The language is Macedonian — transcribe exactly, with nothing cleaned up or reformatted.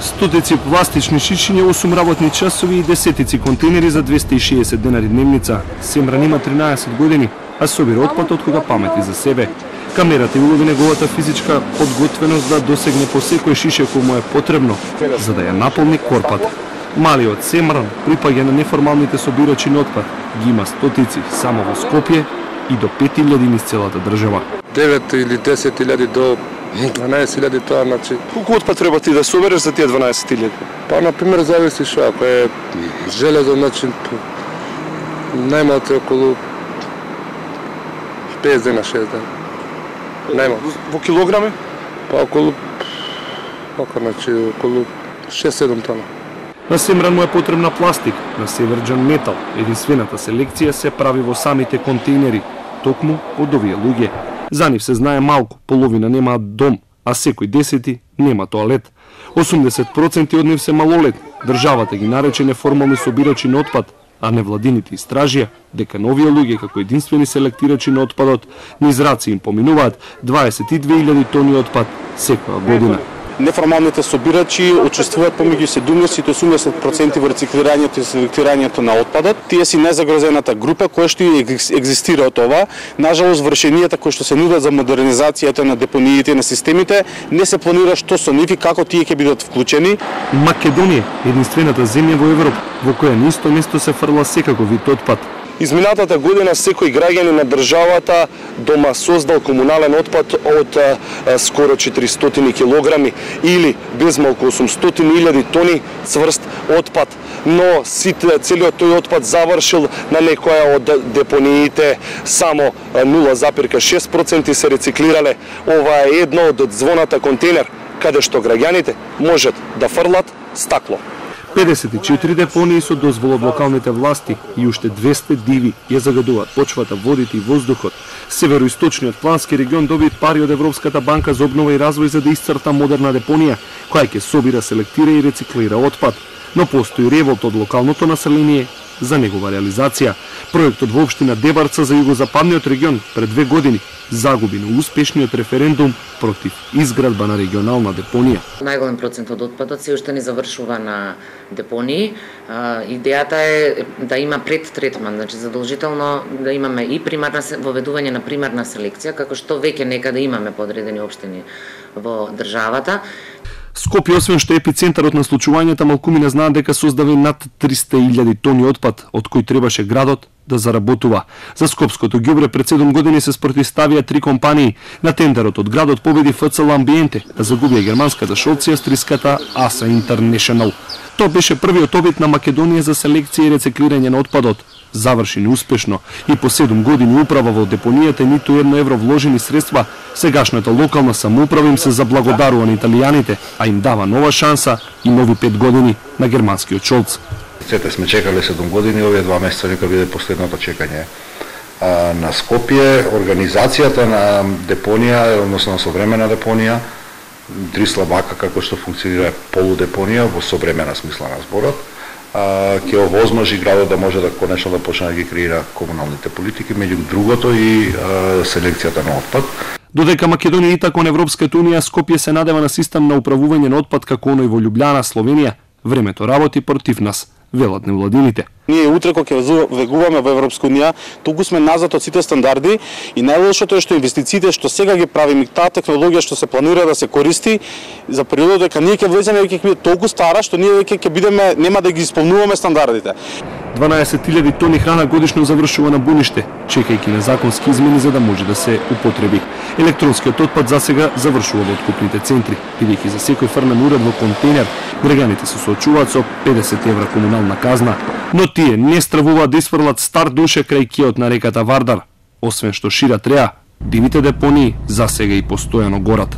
Стотици пластични шишиња, осум работни часови и десетици контейнери за двесте и шеесет денари дневница. Семран има тринаесет години, а собира отпад од кога памети за себе. Камерата и улови неговата физичка подготвеност да досегне по секој шише кој му е потребно, за да ја наполни корпата. Малиот Семран припаѓа на неформалните собирачи на отпад. Ги има стотици само во Скопје и до пет илјади низ целата држава. девет или десет илјади до дванаесет илјади, тоа значи. Колку отпад треба ти да собереш за тие дванаесет илјади? Па на пример зависи што, ако е железо, значи најмалку е околу пет дена, шест дена. Најмалку. Во килограми? Па околу Ока, значи, околу шест-седум тона. На Семран му е потребна пластик, на Северџан метал. Единствената селекција се прави во самите контейнери, токму од овие луѓе. За нив се знае малку, половина немаат дом, а секој десети нема тоалет. осумдесет проценти од нив се малолетни. Државата ги нарече неформални собирачи на отпад, а невладините истражија дека новие луѓе како единствени селектирачи на отпадот низ раци им поминуваат дваесет и две илјади тони отпад секоја година. Неформалните собирачи учествуваат помеѓу седумдесет и осумдесет проценти во рециклирањето и селектирањето на отпадот. Тие си незагрозената група која што и екзистира од ова. Нажалост, вршенијата кои што се нудат за модернизацијата на депониите и на системите не се планира што со нив и како тие ќе бидат вклучени. Македонија е единствената земја во Европа во која на исто место се фрла секаков вид отпад. Изминатата година секој граѓанин на државата дома создал комунален отпад од а, а, скоро четиристотини килограми или безмалку осумстотини илјади тони цврст отпад. Но сите, целиот тој отпад завршил на некоја од депониите, само нула запирка шест проценти се рециклирале. Ова е едно од звоната контейнер каде што граѓаните можат да фрлат стакло. педесет и четири депонии со дозвола од локалните власти и уште двесте диви ја загадуваат почвата, водите и воздухот. Североисточниот плански регион доби пари од Европската банка за обнова и развој за да исцрта модерна депонија, која ќе собира, селектира и рециклира отпад. Но постои револт од локалното население за негова реализација. Проектот во општина Дебарца за југозападниот регион пред две години загуби на успешниот референдум против изградба на регионална депонија. Најголем процент од отпадот се уште не завршува на депонии. А, идејата е да има предтретман, значи задолжително да имаме и примарна воведување на примарна селекција, како што веќе некаде имаме подредени општини во државата. Скопје, освен што е епицентарот на случувањата, малкумина знаат дека создаде над триста илјади тони отпад, од кој требаше градот да заработува. За скопското ѓубре пред седум години се спротивставија три компании. На тендерот од градот победи Ф Ц Л Амбиенте, а загубија германската шолци австриската Аса Интернешнл. Тоа беше првиот обид на Македонија за селекција и рециклирање на отпадот. Заврши неуспешно и по седум години управа во депонијата ниту едно евро вложени средства, сегашната локална самоуправа им се заблагодарува на италијаните, а им дава нова шанса и нови пет години на германскиот Шолц. Сете сме чекале седум години, овие два месеца нека биде последното чекање. А, на Скопје организацијата на депонија, односно на современа депонија, три слабака како што функционира полудепонија во современа смисла на зборот, ќе овозможи градот да може да конечно да почне да ги креира комуналните политики, меѓу другото и а, селекцијата на отпад. Додека Македонија итак кон Европската унија, Скопје се надева на систем на управување на отпад како оној во Љубљана, Словенија. Времето работи против нас, велат невладините. Ние утре кога ќе вегуваме во Европска унија, толку сме назад од сите стандарди и најлошото е што инвестициите што сега ги правиме, таа технологија што се планира да се користи за периодот дека ние ќе влеземе веќе ќе биде толку стара што ние веќе ќе бидеме нема да ги исполнуваме стандардите. дванаесет илјади тони храна годишно завршува на буниште, чекајќи на законски измени за да може да се употреби. Електронскиот отпад засега завршува во откупните центри, бидејќи за секој фрлен уред во контейнер граѓаните се соочуваат со педесет евра комунална казна, но тие не стравуваат да isfрлат стар душе крај киот на реката Вардар. Освен што шират реа, дивите депонии засега и постојано горат.